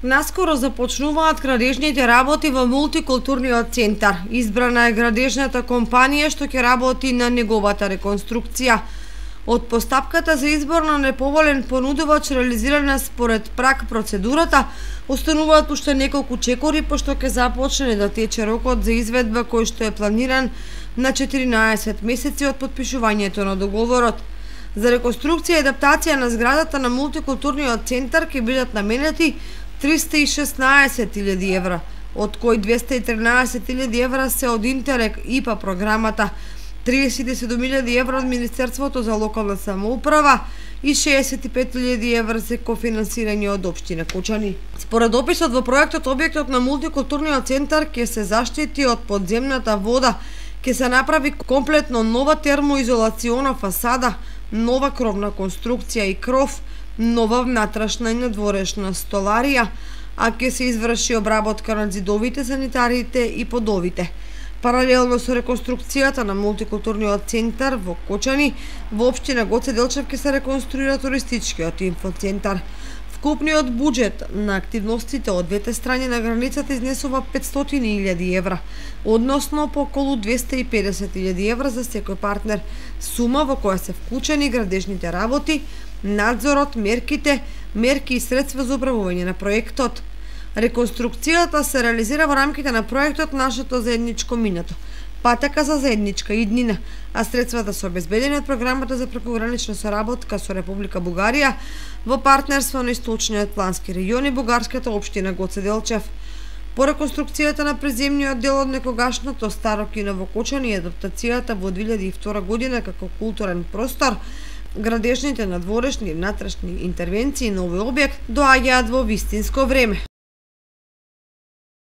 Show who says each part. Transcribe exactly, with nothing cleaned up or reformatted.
Speaker 1: Наскоро започнуваат градежните работи во мултикултурниот центар. Избрана е градежната компанија што ќе работи на неговата реконструкција. Од постапката за избор на неповолен понудувач реализирана според прак процедурата, остануваат уште неколку чекори, пошто ќе започне да тече рокот за изведба кој што е планиран на четиринаесет месеци од подпишувањето на договорот. За реконструкција и адаптација на зградата на мултикултурниот центар ќе бидат наменети триста и шеснаесет илјади евра, од кои двеста и тринаесет илјади евра се од Интерек ИПА програмата, триесет и седум илјади евра од Министерството за локална самоуправа и шеесет и пет илјади евра се кофинансирање од општина Кочани. Според описот во проектот, објектот на мултикултурниот центар ќе се заштити од подземната вода, ќе се направи комплетно нова термоизолациона фасада, нова кровна конструкција и кров, нова внатрешна и надворешна столарија, а ќе се изврши обработка на зидовите, санитариите и подовите. Паралелно со реконструкцијата на мултикултурниот центар во Кочани, во општина Гоце Делчев ќе се реконструира туристичкиот инфоцентар. Вкупниот буџет на активностите од двете страни на границата изнесува петстотини илјади евра, односно по околу двеста и педесет илјади евра за секој партнер, сума во која се вклучени градежните работи, надзорот, мерките, мерки и средства за управување на проектот. Реконструкцијата се реализира во рамките на проектот Нашето заедничко минато, патека за заедничка иднина, а средствата се обезбедени од програмата за прекогранична соработка со Република Бугарија во партнерство на Источниот плански регион и бугарската општина Гоце Делчев. По реконструкцијата на преземниот дел од некогашното старо кино во Кочани и адаптацијата во две илјади и втора година како културен простор, градежните надворешни и внатрешни интервенции на овој објект доаѓаат во вистинско време.